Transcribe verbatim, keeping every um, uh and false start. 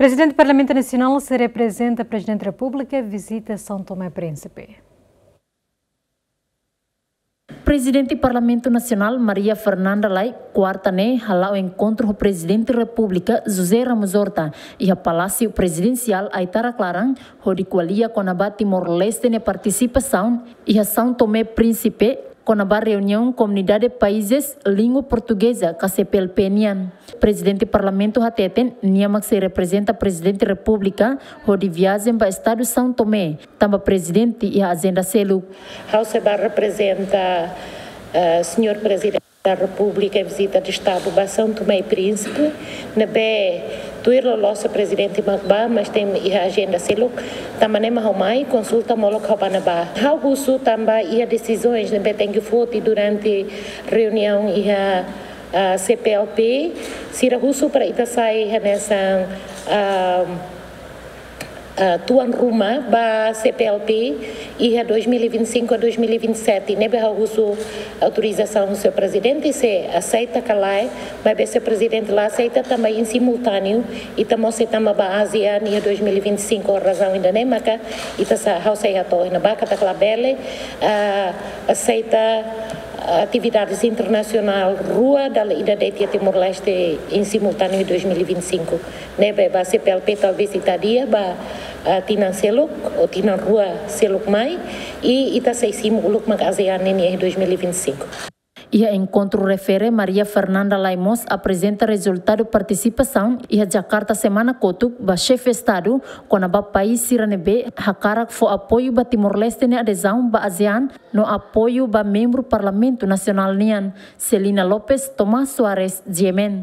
Prezidente Parlamentu Nasionál sei reprezenta Prezidente Repúblika vizita São Tomé e Príncipe. Prezidente Parlamentu Nasionál Maria Fernanda Lay, kuarta ne'e hala'o enkontru ho Prezidente Repúblika José Ramos Horta iha Palásiu Prezidensiál Aitarak-Laran, hodi ko'alia kona-ba Timor-Leste nia partisipasaun iha São Tomé e Príncipe, kona-ba reuniaun Komunidade Países Língua Portuguesa ka C P L P nian. Prezidente Parlamentu hateten nia mak sei reprezenta Prezidente Repúblika hodi viajen ba Estadu São Tomé, tanba Prezidente iha ajenda seluk. Ha'u sei bá reprezenta, eh, Señór Prezidente da Repúblika em vizita de Estadu ba São Tomé e Príncipe, ne'ebé tuir loloos Prezidente mak bá, mas tem iha ajenda seluk, tanba ne'e mak ha'u mai, konsulta molok ha'u bá ne'ebá. Ha'u husu tanba iha desizaun ne'ebé tenke foti durante reuniaun iha, ah, C P L P, sira husu para ita sai hanesan, ah, ah, tuan ruma ba C P L P iha dois mil e vinte e cinco a dois mil e vinte e sete, ne'ebé ha'u husu autorizasaun Señór Prezidente, se aseita ka lae, maibé Señór Prezidente la aseita, tanba iha simultáneu ita mós sei tama ba ASEAN iha dois mil e vinte e cinco, razaun ida-ne'e maka ita sa, ha'u sei hato'o iha ne'ebá katak labele, ah, aseita atividades internasionál rua dala ida de'it iha Timor-Leste iha simultáneu dois mil e vinte e cinco. Ne'ebé ba C P L P talvés ita adia ba, ah, tinan seluk ou tinan rua seluk mai, i ita sei simu uluk mak ASEAN nian iha dois mil e vinte e cinco. Iha enkontru refere, Maria Fernanda Lay mós aprezenta rezultadu partisipasaun iha Jakarta semana kotuk ba Xefe Estadu kona-ba país sira ne'ebé hakarak fó apoiu ba Timor-Leste nia adezaun ba ASEAN no apoiu ba membru Parlamentu Nasionál nian. Celina Lopes, Tomás Soares, G M N.